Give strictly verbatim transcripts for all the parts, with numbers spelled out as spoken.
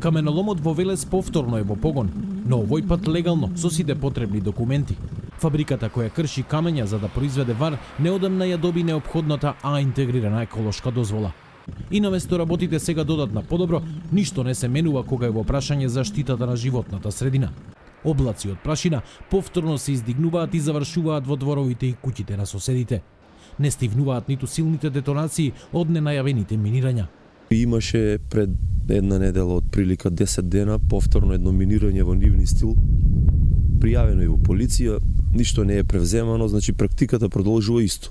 Каменоломот во Велес повторно е во погон, но овој пат легално со сите потребни документи. Фабриката која крши камења за да произведе вар неодамна ја доби неопходната А интегрирана еколошка дозвола. И наместо работите сега додат на подобро, ништо не се менува кога е во прашање заштитата на животната средина. Облаци од прашина повторно се издигнуваат и завршуваат во дворовите и куќите на соседите. Не стивнуваат ниту силните детонации од ненајавените минирања. Имаше пред една недела од прилика десет дена повторно едно минирање во нивни стил. Пријавено и во полиција, ништо не е превземано, значи практиката продолжува исто.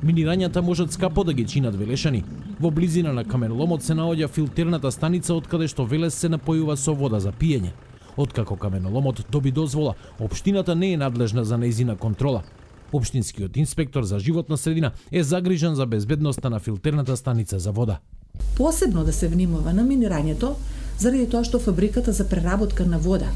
Минирањата можат скапо да ги чинат велешани. Во близина на каменоломот се наоѓа филтерната станица од каде што Велес се напојува со вода за пиење. Откако каменоломот доби дозвола, општината не е надлежна за нејзина контрола. Општинскиот инспектор за животна средина е загрижен за безбедноста на филтерната станица за вода. Посебно да се внимава на минирањето, заради тоа што фабриката за преработка на вода,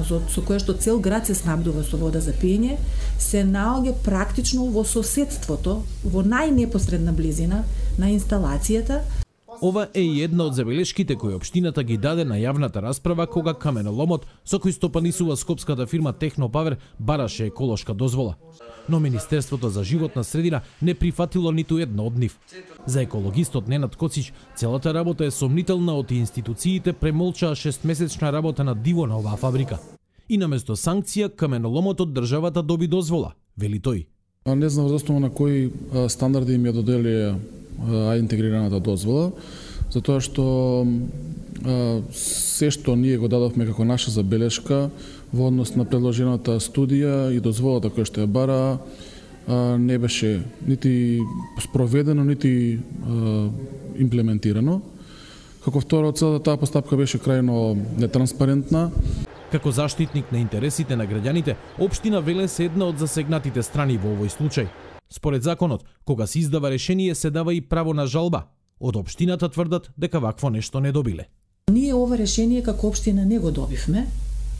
со која што цел град се снабдува со вода за пиење, се наоѓа практично во соседството, во најнепосредна близина на инсталацијата. Ова е и една од забелешките кои општината ги даде на јавната расправа кога каменоломот со кој стопанисува скопската фирма Технопавер бараше еколошка дозвола. Но Министерството за животна средина не прифатило ниту една од нив. За екологистот Ненад Коцич, целата работа е сомнителна од институциите премолчаа шестмесечна работа на диво на оваа фабрика. И наместо санкција, каменоломот од државата доби дозвола, вели тој. Не знам за основа на кои стандарди им ја додели А интегрираната дозвола, затоа што се што ние го дадовме како наша забелешка во однос на предложената студија и дозволата која што ја бара не беше нити спроведено, нити имплементирано. Како второ, целата таа постапка беше крајно нетранспарентна. Како заштитник на интересите на граѓаните, општина Велес е една од засегнатите страни во овој случај. Според законот, кога се издава решение, се дава и право на жалба. Од општината тврдат дека вакво нешто не добиле. Ние ова решение како општина не го добивме,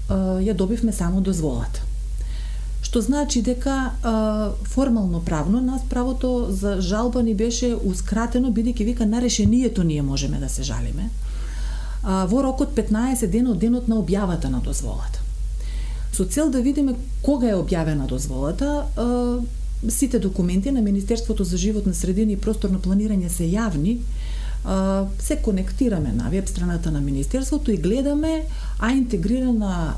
ја добивме само дозволата. Што значи дека формално правно нас правото за жалба ни беше ускратено, бидејќи вика на решението ние можеме да се жалиме во рокот петнаесет дена од денот на објавата на дозволата. Со цел да видиме кога е објавена дозволата, сите документи на Министерството за животна средина и просторно планирање се јавни, се конектираме на веб страната на Министерството и гледаме А интегрирана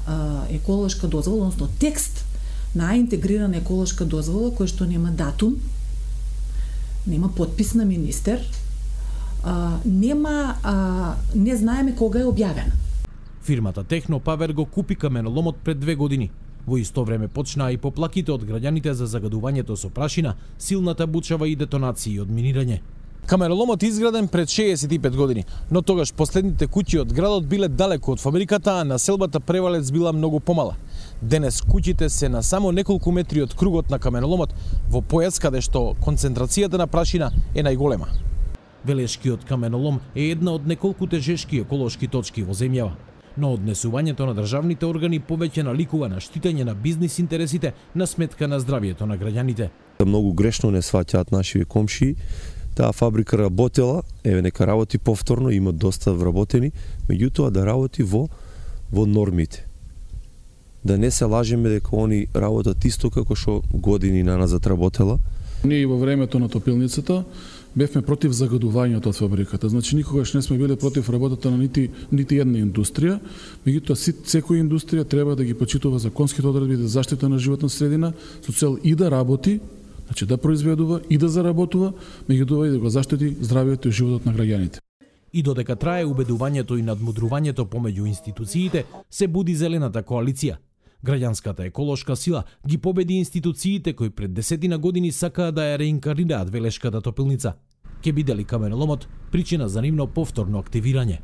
еколошка дозвола, односно текст на А интегрирана еколошка дозвола, кој што нема датум, нема подпис на министер, нема, не знаеме кога е објавена. Фирмата Технопавер го купи каменоломот пред две години. Во исто време почнаа и поплаките од граѓаните за загадувањето со прашина, силната бучава и детонации од минирање. Каменоломот изграден пред шеесет и пет години, но тогаш последните куќи од градот биле далеко од фабриката, а населбата Превалец била многу помала. Денес куќите се на само неколку метри од кругот на каменоломот, во појас каде што концентрацијата на прашина е најголема. Велешкиот каменолом е една од неколку тежешки еколошки точки во земјава. Но однесувањето на државните органи повеќе наликува на штитење на бизнис интересите на сметка на здравието на граѓаните. Многу грешно не сваќаат нашите комшии. Таа фабрика работела, еве нека работи повторно, има доста вработени, меѓутоа да работи во во нормите. Да не се лажеме дека они работат исто како што години наназад работела. Ние во времето на топилницата бевме против загадувањето од фабриката. Значи никогаш не сме биле против работата на нити нити една индустрија, меѓутоа секоја индустрија треба да ги почитува законските одредби за заштита на животна средина со цел и да работи, значи да произведува и да заработува, меѓутоа и да го заштити здравието и животот на граѓаните. И додека трае убедувањето и надмудрувањето помеѓу институциите, се буди зелената коалиција. Граѓанската еколошка сила ги победи институциите кои пред десетина години сакаа да ја реинкарнираат Велешката топилница. Ке биде ли каменоломот причина за нивно повторно активирање?